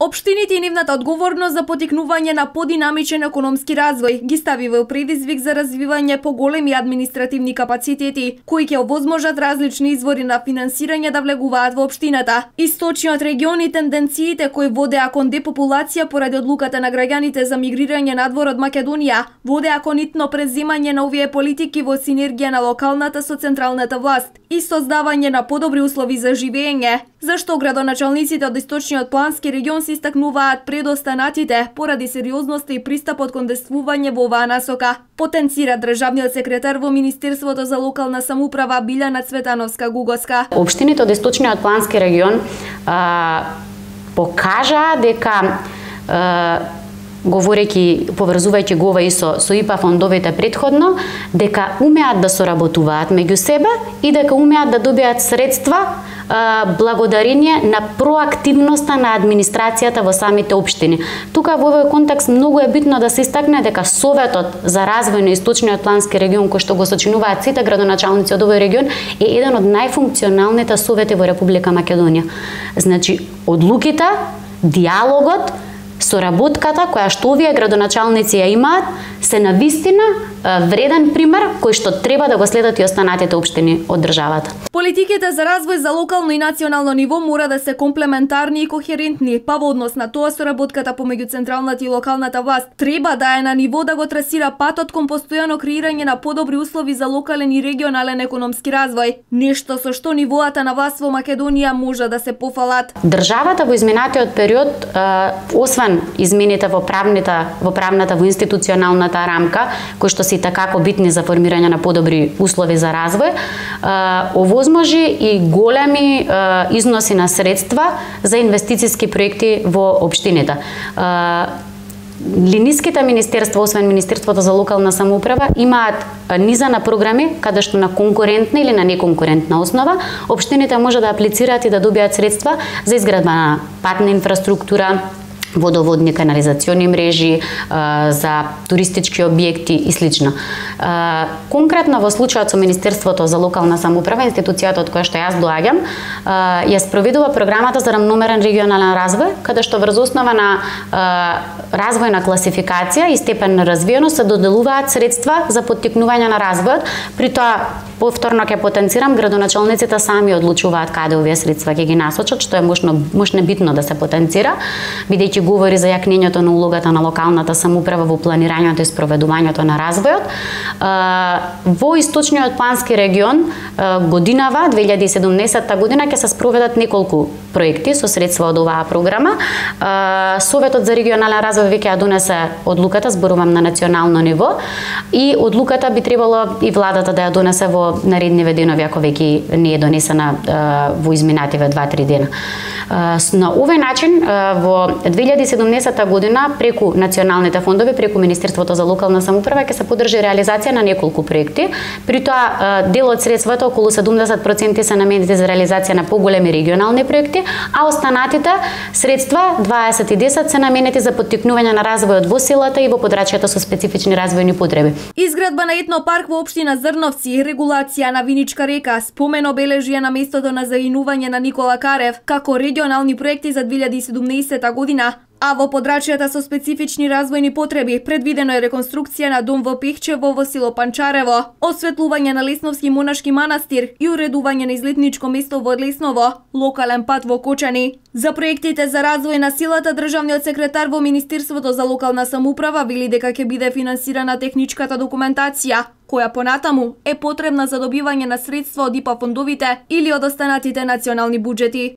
Општините и нивната одговорност за потикнување на подинамичен економски развој ги стави во предизвик за развивање поголеми административни капацитети, кои ќе овозможат различни извори на финансирање да влегуваат во општината. Источниот регион и тенденциите кои водеа кон депопулација поради одлуката на граѓаните за мигрирање надвор од Македонија, водеа кон итно преземање на овие политики во синергија на локалната со централната власт и создавање на подобри услови за живење, зашто градоначалниците од Источниот плански регион се истакнуваат пред останатите поради сериозноста и пристапот кон действување во оваа насока, потенцира државниот секретар во Министерството за локална самоуправа Билјана Цветановска-Гугоска. Општините од Источниот плански регион покажаа дека говорејќи, поврзувајќи го ова и со ИПА фондовите претходно, дека умеат да соработуваат меѓу себе и дека умеат да добијат средства благодарение на проактивноста на администрацијата во самите општини. Тука во овој контекст многу е битно да се истакне дека Советот за развој на Источниот плански регион, кој што го сочинуваат сите градоначалници од овој регион, е еден од најфункционалните совети во Република Македонија. Значи, одлуките, диалогот, соработката која што овие градоначалници ја имаат се навистина вреден пример кој што треба да го следат и останатите општини од државата. Политиките за развој за локално и национално ниво мора да се комплементарни и кохерентни, па во однос на тоа соработката помеѓу централната и локалната власт треба да е на ниво да го трасира патот кон постојано креирање на подобри услови за локален и регионален економски развој, нешто со што нивоата на власт во Македонија може да се пофалат. Државата во изминатиот период, освен измените во правната, во институционалната рамка, кои што се такако битни за формирање на подобри услови за развој, овозможи и големи износи на средства за инвестициски проекти во општините. Линиските министерства, освен Министерството за локална самоуправа, имаат низа на програми каде што на конкурентна или на неконкурентна основа општините може да аплицираат и да добијат средства за изградба на патна инфраструктура, водоводни канализациони мрежи, за туристички објекти и слично. Конкретно во случајот со Министерството за локална самоуправа, институцијата од која што јас доаѓам, ја спроведува програмата за рамномерен регионален развој, каде што врз основа на развојна класификација и степен на развиеност се доделуваат средства за поттикнување на развојот. При тоа, повторно ќе потенцирам, градоначалниците сами одлучуваат каде овие средства ќе ги насочат, што е мощно битно да се потенцира, бидејќи говори за јакнењето на улогата на локалната самоуправа во планирањето и спроведувањето на развојот. Во Источниот плански регион годинава 2017 година ќе се спроведат неколку проекти со средства од оваа програма. Советот за регионален развој веќе ја донесе одлуката, зборувам на национално ниво, и одлуката би требало и владата да ја донесе во наредниве денови, ако веќе не е донесена во изминативе 2-3 дена. На овој начин во 2017 година преку националните фондови, преку Министерството за локална самоуправа ќе се поддржи реализација на неколку проекти. При тоа дел од средствата, околу 70% се наменети за реализација на поголеми регионални проекти, а останатите средства 20-10 се наменети за поттикнување на развојот во селата и во подрачјата со специфични развојни потреби. Изградба на етнопарк во општина Зрновци, регулација на Виничка река, спомен обележје на местото на загинување на Никола Карев, како регионални проекти за 2017 година, а во подрачјата со специфични развојни потреби предвидено е реконструкција на дом во Пехчево во село Панчарево, осветлување на Лесновски монашки манастир и уредување на излетничко место во Лесново, локален пат во Кочани. За проектите за развој на селата, државниот секретар во Министерството за локална самоуправа вели дека ќе биде финансирана техничката документација, која понатаму е потребна за добивање на средства од ИПА фондовите или од останатите национални буџети.